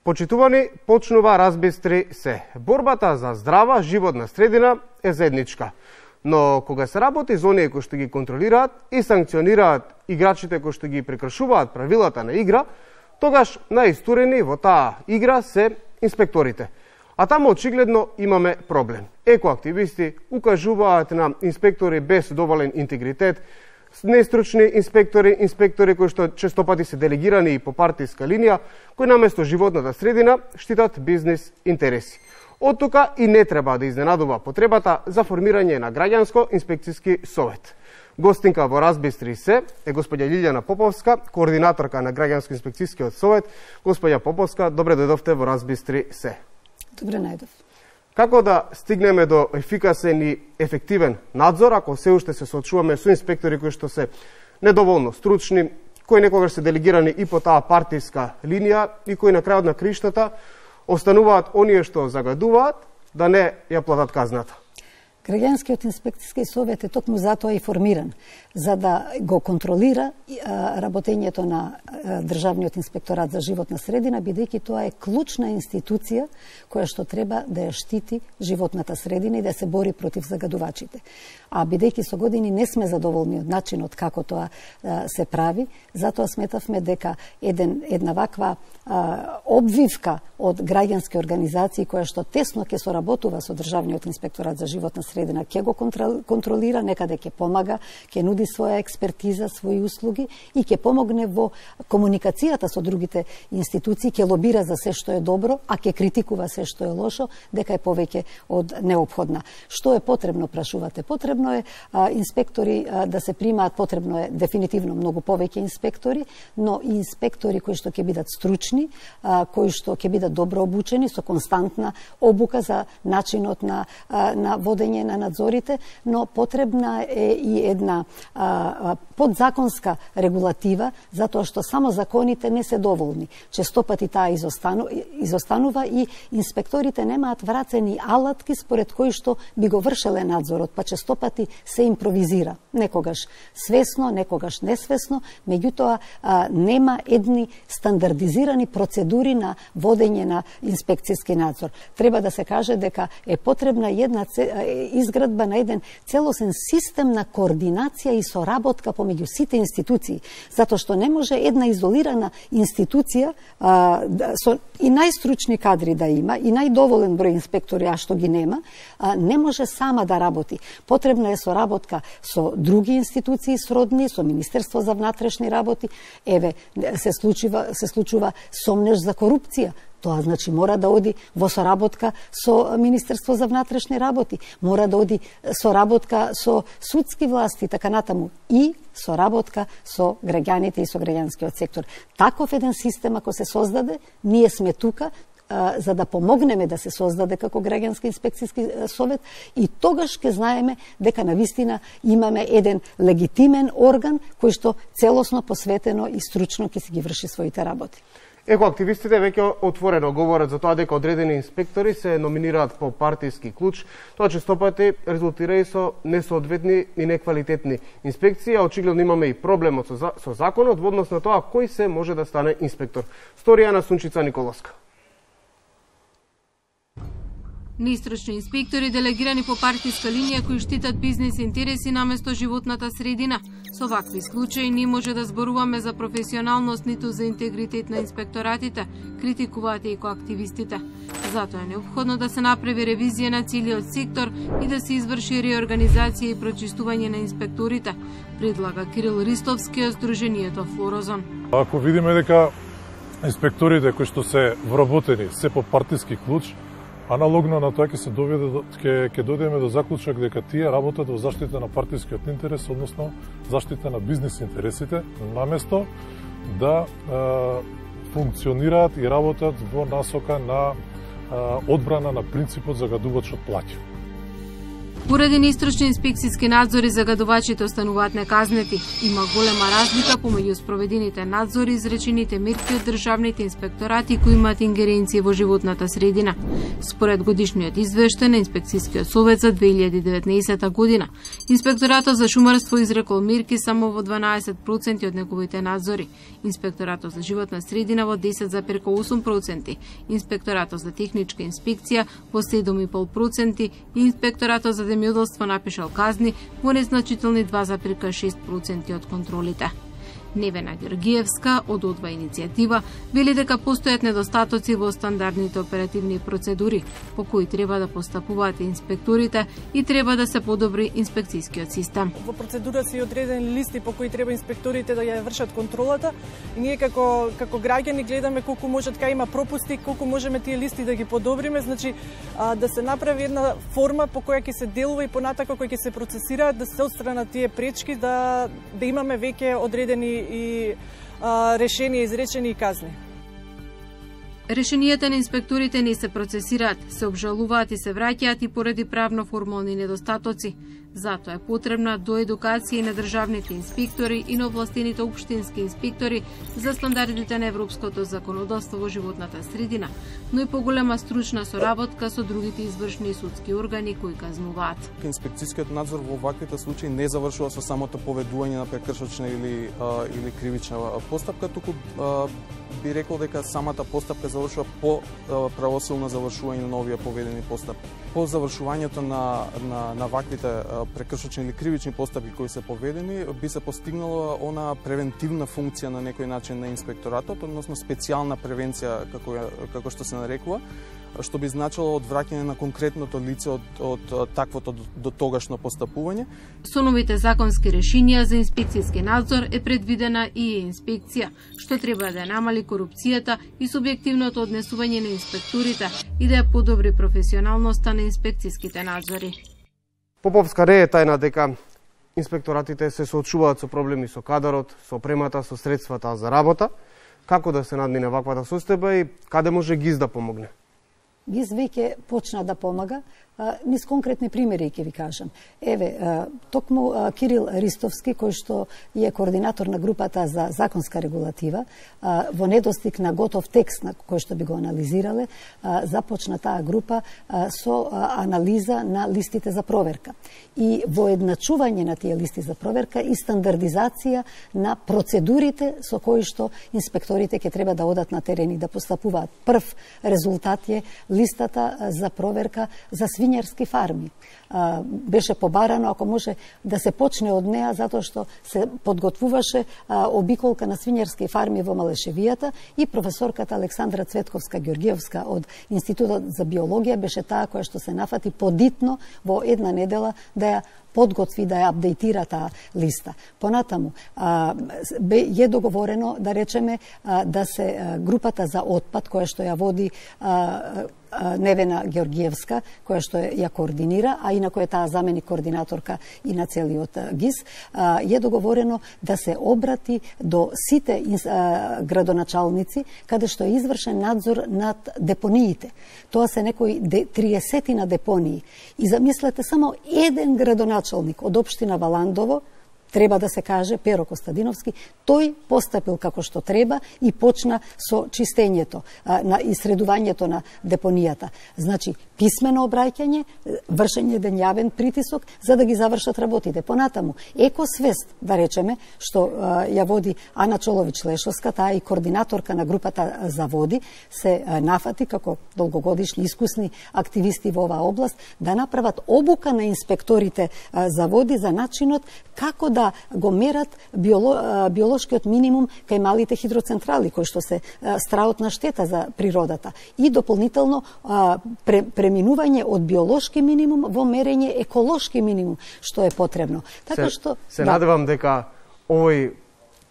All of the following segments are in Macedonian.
Почитувани, почнува разбистри се. Борбата за здрава животна средина е заедничка. Но кога се работи за оние кои што ги контролираат и санкционираат играчите кои што ги прекршуваат правилата на игра, тогаш наистурени во таа игра се инспекторите. А таму очигледно имаме проблем. Екоактивисти укажуваат на инспектори без доволен интегритет, нестручни инспектори кои што честопати се делегирани и по партиска линија, кои наместо животната средина штитат бизнис интереси. Од тука и не треба да изненадува потребата за формирање на граѓанско инспекцијски совет. Гостинка во Разбистри се е господја Лилјана Поповска, координаторка на граѓанско инспекцијскиот совет. Господја Поповска, добре дојдовте во Разбистри се. Добре најдов. Како да стигнеме до ефикасен и ефективен надзор, ако се уште се соочуваме со инспектори кои што се недоволно стручни, кои некогаш се делегирани и по таа партиска линија и кои на крајот на криштата остануваат оние што загадуваат да не ја платат казната? Граѓанскиот инспекцијски совет е токму затоа и формиран, за да го контролира работењето на Државниот инспекторат за животна средина, бидејќи тоа е клучна институција која што треба да ја штити животната средина и да се бори против загадувачите. А бидејќи со години не сме задоволни од начинот како тоа се прави, затоа сметавме дека една ваква обвивка од граѓански организации која што тесно ќе соработува со Државниот инспекторат за животна средина, ќе го контролира, некаде ќе помага, ќе нуди своја експертиза, своји услуги и ќе помогне во комуникацијата со другите институции, ќе лобира за се што е добро, а ќе критикува се што е лошо, дека е повеќе од неопходна. Што е потребно, прашувате? Потребно е инспектори да се примаат, потребно е дефинитивно многу повеќе инспектори, но и инспектори кои што ќе бидат стручни, кои што ќе бидат добро обучени, со константна обука за начинот на водење на надзорите, но потребна е и една подзаконска регулатива, затоа што само законите не се доволни. Честопати таа изостанува и инспекторите немаат врацени алатки според кои што би го вршеле надзорот, па честопати се импровизира. Некогаш свесно, некогаш несвесно, меѓутоа нема едни стандардизирани процедури на водење на инспекцијски надзор. Треба да се каже дека е потребна една изградба на еден целосен систем на координација и соработка помеѓу сите институции, затоа што не може една изолирана институција со и најстручни кадри да има и најдоволен број инспектори, а што ги нема, не може сама да работи. Потребна е соработка со други институции сродни, со Министерство за внатрешни работи. Еве, се случува сомнеж за корупција. Тоа значи мора да оди во соработка со Министерство за внатрешни работи, мора да оди соработка со судски власти, така натаму, и соработка со граѓаните и со граѓанскиот сектор. Таков еден систем ако се создаде, ние сме тука за да помогнеме да се создаде како граѓански инспекцијски совет и тогаш ќе знаеме дека навистина имаме еден легитимен орган кој што целосно посветено и стручно ќе си ги врши своите работи. Екоактивистите веќе отворено говорат за тоа дека одредени инспектори се номинираат по партиски клуч. Тоа честопати резултира и со несоодветни и неквалитетни инспекции, а очигледно имаме и проблемот со законот во однос на тоа кој се може да стане инспектор. Сторија на Сунчица Николовска. Неистручни инспектори делегирани по партиска линија кои штитат бизнис интереси наместо животната средина. Со вакви случаи не може да зборуваме за професионалност ниту за интегритет на инспекторатите, критикуваат и екоактивистите. Затоа е неопходно да се направи ревизија на целиот сектор и да се изврши реорганизација и прочистување на инспекторите, предлага Кирил Ристовски од Сдруженијето Флорозон. Ако видиме дека инспекторите кои што се вработени се по партиски клуч, аналогно на тоа ќе дојдеме до заклучок дека тие работат во заштита на партискиот интерес, односно заштита на бизнис интересите, наместо да функционираат и работат во насока на одбрана на принципот загадувачот плаќа. Поради неистрочни инспекцијски надзори, загадувачите остануваат неказнети. Има голема разлика помеѓу спроведените надзори и изречените мерки од државните инспекторати кои имаат ингеренција во животната средина. Според годишниот извештај на Инспекцијскиот совет за 2019 година, Инспекторатот за шумарство изрекол мерки само во 12% од неговите надзори, Инспекторатот за животна средина во 10,8%, Инспекторатот за техничка инспекција во 7,5% и Инспекторатот за земјоделство напишал казни во незначителни 2,6% од контролите. Невена Георгиевска од Одва иницијатива вели дека постојат недостатоци во стандардните оперативни процедури по кои треба да постапуваат инспекторите и треба да се подобри инспекцијскиот систем. Во процедура се одредени листи по кои треба инспекторите да ја вршат контролата и ние како граѓани гледаме колку можат кај има пропусти, колку можеме тие листи да ги подобриме, значи да се направи една форма по која ќе се делува и понатака која ќе се процесираат, да се отстранат тие пречки, да имаме веќе одредени и решенија изречени и казни. Решенијата на инспекторите не се процесираат, се обжалуваат и се враќаат и поради правно-формални недостатоци. Затоа е потребна доедукација и на државните инспектори и на овластените општински инспектори за стандардите на европското законодавство во животната средина, но и поголема стручна соработка со другите извршни и судски органи кои казнуваат. Инспекцијскиот надзор во ваквите случаи не завршува со самото поведување на прекршочна или кривична постапка, туку би рекол дека самата постапка завршува по правосилно завршување на овие поведени постапки. По завршувањето на ваквите прекршочни или кривични постапки кои се поведени, би се постигнала она превентивна функција на некој начин на инспекторатот, односно специјална превенција како што се нарекува, што би значило одвраќање на конкретното лице од таквото дотогашно постапување. Со новите законски решенија за инспекцијски надзор е предвидена и инспекција, што треба да намали корупцијата и субјективното однесување на инспекторите и да ја подобри професионалноста на инспекцијските надзори. Поповска не е тајна дека инспекторатите се соочуваат со проблеми со кадарот, со опремата, со средствата за работа. Како да се надмине ваквата состојба и каде може ГИС да помогне? ГИС веќе почна да помага, низ конкретни примери ќе ви кажам. Еве, токму Кирил Ристовски, кој што е координатор на групата за законска регулатива, во недостиг на готов текст на кој што би го анализирале, започна таа група со анализа на листите за проверка. И воедначување на тие листи за проверка и стандардизација на процедурите со кои што инспекторите ќе треба да одат на терен и да постапуваат. Прв резултат е листата за проверка за свињарски фарми. Беше побарано, ако може да се почне од неа, затоа што се подготвуваше обиколка на свињарски фарми во Малешевијата и професорката Александра Цветковска-Георгиевска од Институтот за биологија беше таа која што се нафати подитно во една недела да ја подготви, да ја апдейтира таа листа. Понатаму, е договорено, да речеме, да се групата за отпад, која што ја води Невена Георгиевска, која што ја координира, а инако е таа заменик координаторка и на целиот ГИС, е договорено да се обрати до сите градоначалници, каде што е извршен надзор над депониите. Тоа се некои 30 на депонии. И замислете, само еден градоначалник од општина Валандово, треба да се каже, Перо Костадиновски, тој постапил како што треба и почна со чистењето, на исредувањето на депонијата. Значи, писмено обраќање, вршење денјавен притисок за да ги завршат работите. Понатаму, екосвест, да речеме, што ја води Ана Чолович-Лешовска, таа и координаторка на групата за води, се нафати како долгогодишни искусни активисти во оваа област да направат обука на инспекторите за води за начинот како да го мерат биолошкиот минимум кај малите хидроцентрали, кои што се страутна штета за природата. И дополнително преминување од биолошки минимум во мерење еколошки минимум, што е потребно. Така што се надевам дека овој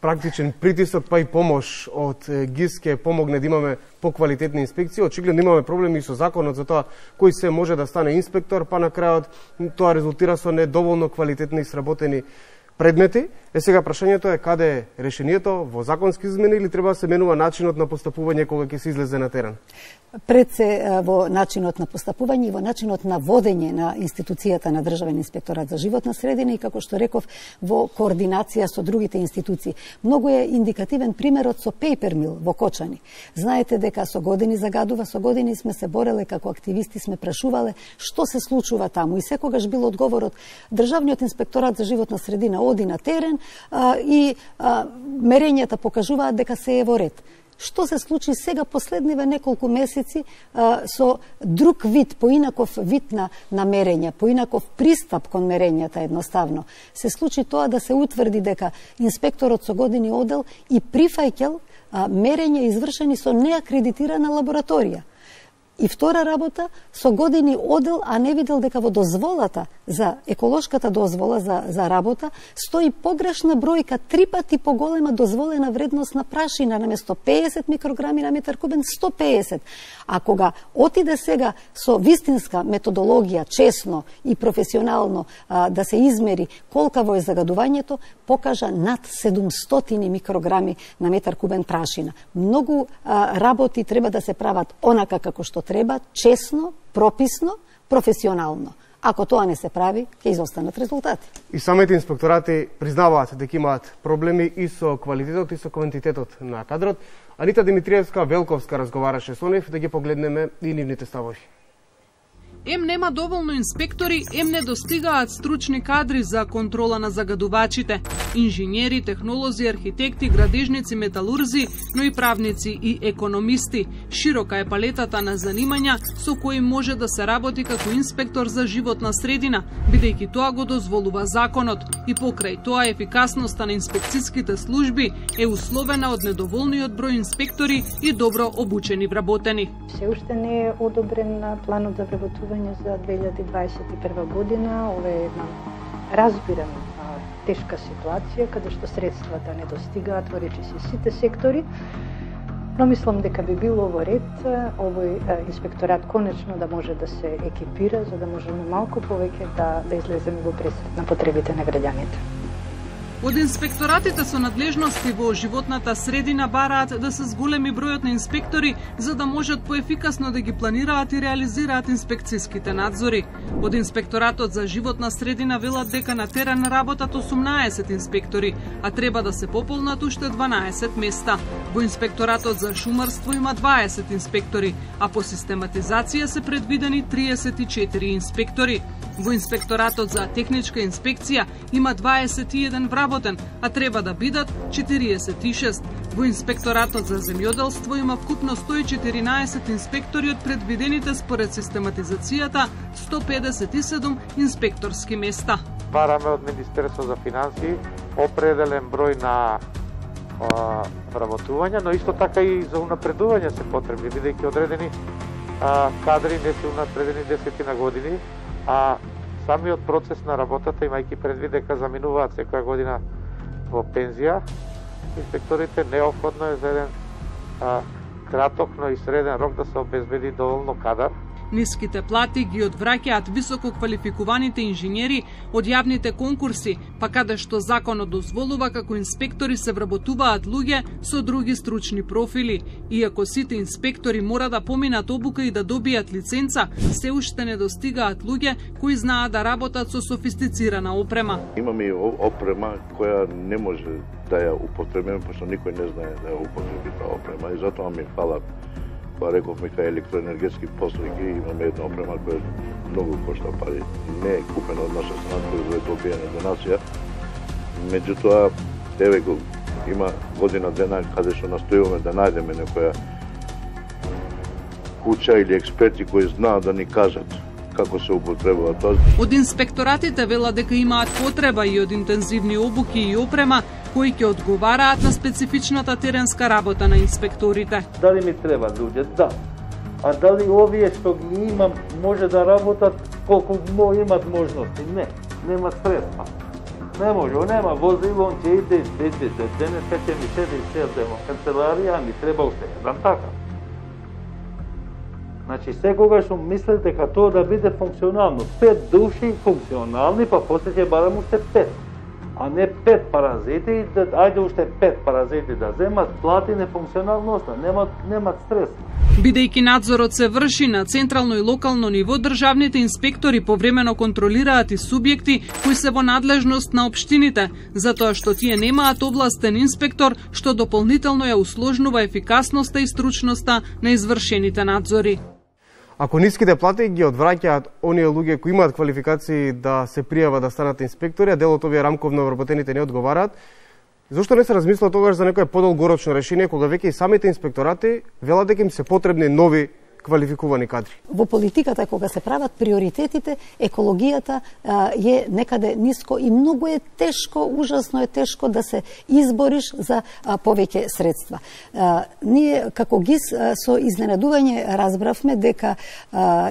практичен притисок па и помош од ГИС ќе помогне да имаме поквалитетни инспекции. Очигледно имаме проблеми со законот за тоа кој се може да стане инспектор, па на крајот тоа резултира со недоволно квалитетни и сработени предмети. Сега прашањето е каде е решението, во законски измени или треба да се менува начинот на постапување кога ќе се излезе на терен? Пред се во начинот на постапување и во начинот на водење на институцијата на Државен инспекторат за животна средина и, како што реков, во координација со другите институции. Многу е индикативен примерот со Paper Mill во Кочани. Знаете дека со години загадува, со години сме се бореле како активисти, сме прашувале што се случува таму и секогаш бил одговорот Државниот инспекторат за животна средина оди на терен и мерењата покажуваат дека се е во ред. Што се случи сега последниве неколку месеци со друг вид, поинаков вид на мерење, поинаков пристап кон мерењата едноставно. Се случи тоа да се утврди дека инспекторот со години одел и прифаќал мерења извршени со неакредитирана лабораторија. И втора работа, со години одел, а не видел дека во дозволата за еколошката дозвола за работа стои погрешна бројка, 3 пати поголема дозволена вредност на прашина, наместо 50 микрограми на метар кубен, 150. А кога отиде сега со вистинска методологија, честно и професионално да се измери колкаво е загадувањето, покажа над 700 микрограми на метар кубен прашина. Многу работи треба да се прават онака како што треба, честно, прописно, професионално. Ако тоа не се прави, ќе изостанат резултати. И самите инспекторати признаваат дека имаат проблеми и со квалитетот и со квантитетот на кадрот. Анита Димитриевска-Велковска разговараше со нив, да ги погледнеме и нивните ставови. Ем нема доволно инспектори, ем не достигаат стручни кадри за контрола на загадувачите. Инженери, технолози, архитекти, градежници, металурзи, но и правници и економисти. Широка е палетата на занимања со кои може да се работи како инспектор за животна средина, бидејќи тоа го дозволува законот. И покрај тоа ефикасноста на инспекцијските служби е условена од недоволниот број инспектори и добро обучени вработени. Се уште не е одобрен планот за вработување за 2021 година. Ова е една разбирам тешка ситуација, каде што средствата не достигаат во речиси сите сектори, но мислам дека би било во ред овој инспекторат конечно да може да се екипира, за да можеме малку повеќе да излеземе во пресрет на потребите на граѓаните. Од инспекторатите со надлежности во животната средина бараат да се зголеми бројот на инспектори за да можат поефикасно да ги планираат и реализираат инспекцијските надзори. Од инспекторатот за животна средина велат дека на терен работат 18 инспектори, а треба да се пополнат уште 12 места. Во инспекторатот за шумарство има 20 инспектори, а по систематизација се предвидени 34 инспектори. Во инспекторатот за техничка инспекција има 21 вработен, а треба да бидат 46. Во инспекторатот за земјоделство има вкупно 114 инспектори од предвидените според систематизацијата 157 инспекторски места. Бараме од Министерство за финансии определен број на вработувања, но исто така и за унапредување се потребни, бидејќи одредени кадри не се унапредени 10 години, а самиот процес на работата, имајќи предвид дека заминуваат секоја година во пензија, инспекторите неопходно е за еден краток, но и среден рок да се обезбеди доволно кадар. Ниските плати ги одвраќаат високо квалификуваните инженери од јавните конкурси, па каде што законот дозволува како инспектори се вработуваат луѓе со други стручни профили. Иако сите инспектори мора да поминат обука и да добијат лиценца, се упште не достигаат луѓе кои знаат да работат со софистицирана опрема. Имаме и опрема која не може да ја употребиме, пошто никој не знае да ја употреби таа опрема и затоа ми фала. Па рековме кај електроенергетски постройки имаме една опрема која многу кошта пари. Не е купена од наша страна, која е добиена донација. Меѓутоа, еве го има година дена каде што настојуваме да најдеме некоја куќа или експерти кои знаат да ни кажат како се употребува тоа. Од инспекторатите вела дека имаат потреба и од интензивни обуки и опрема кои ќе одговараат на специфичната теренска работа на инспекторите. Дали ми треба луѓе? Да. А дали овие што ги имам може да работат колку имат можности? Не. Нема средства. Не може, нема возило, он ќе иде, денес ќе ми седи седемо канцеларија, ми треба уште еден така. Значи, секогаш мисле дека тоа да биде функционално. 5 души функционални, па после ќе барам уште 5. а не 5 паразити, ајде уште 5 паразити да земат, плати нефункционалноста, немат средства. Бидејќи надзорот се врши на централно и локално ниво, државните инспектори повремено контролираат и субјекти кои се во надлежност на општините, затоа што тие немаат овластен инспектор, што дополнително ја усложнува ефикасноста и стручноста на извршените надзори. Ако ниските плати ги одвраќаат оние луѓе кои имаат квалификации да се пријават да станат инспектори, а дел од овие рамковно вработените не одговараат, зошто не се размисла тогаш за некое подолгорочно решение, кога веќе и самите инспекторати велат дека им се потребни нови квалификувани кадри? Во политиката, кога се прават приоритетите, екологијата е некаде ниско и многу е тешко, ужасно е тешко да се избориш за повеќе средства. Ние, како ГИС, со изненадување разбравме дека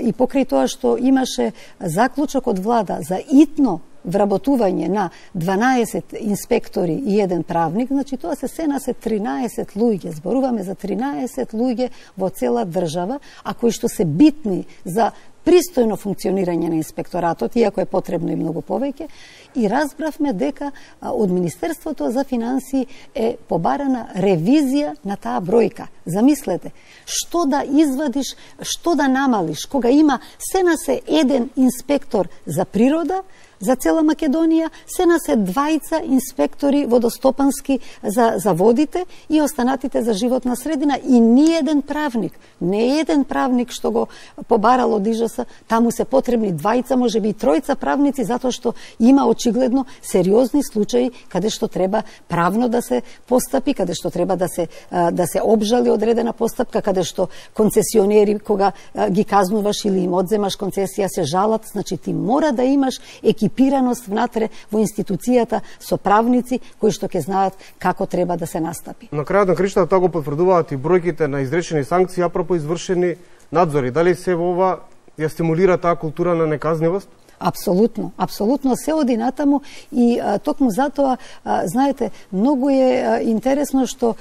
и покрај тоа што имаше заклучок од влада за итно вработување на 12 инспектори и 1 правник, значи тоа се на 13 луѓе. Зборуваме за 13 луѓе во цела држава, а кои што се битни за пристојно функционирање на инспекторатот, иако е потребно и многу повеќе, и разбравме дека од Министерството за финансии е побарана ревизија на таа бројка. Замислете, што да извадиш, што да намалиш, кога има на 1 инспектор за природа, за цела Македонија, на 2 инспектори водостопански за водите и останатите за животна средина и ни еден правник. Не еден правник што го побарало ДИЖС, таму се потребни 2, можеби и 3 правници, затоа што има очигледно сериозни случаи каде што треба правно да се постапи, каде што треба да се обжали одредена постапка, каде што концесионери кога ги казнуваш или им одземаш концесија се жалат, значи ти мора да имаш екипираност внатре во институцијата со правници кои што ќе знаат како треба да се настапи. На крајот на краиштата тоа го потврдуваат и бројките на изречени санкции апропо извршени надзори. Дали се во ова ја стимулира таа култура на неказнивост? Апсолутно, апсолутно се оди натаму и токму затоа, знаете, многу е интересно што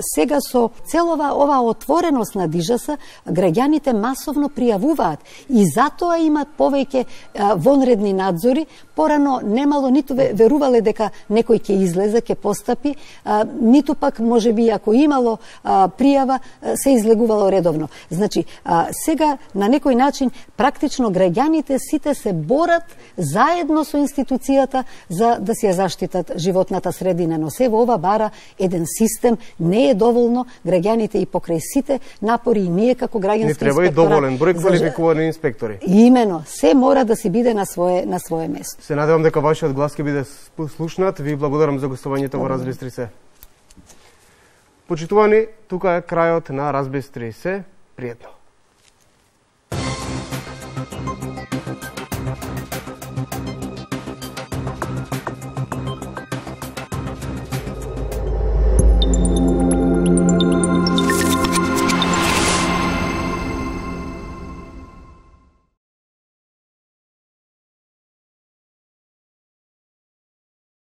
сега со целова ова отвореност на ДИЖС, граѓаните масовно пријавуваат и затоа имат повеќе вонредни надзори. Порано немало ниту верувале дека некој ќе излезе, ќе постапи, ниту пак можеби ако имало пријава се излегувало редовно. Значи, сега на некој начин практично граѓани сите се борат заедно со институцијата за да се ја заштитат животната средина, но се во ова бара еден систем, не е доволно, граѓаните и покрај сите напори и ние како граѓански инспекторат. Не треба и доволен број квалификувани инспектори. Имено, се мора да си биде на свое место. Се надевам дека вашиот глас ќе биде слушнат. Ви благодарам за гостувањето во Разбистри се. Почитувани, тука е крајот на Разбистри се. Пријатно.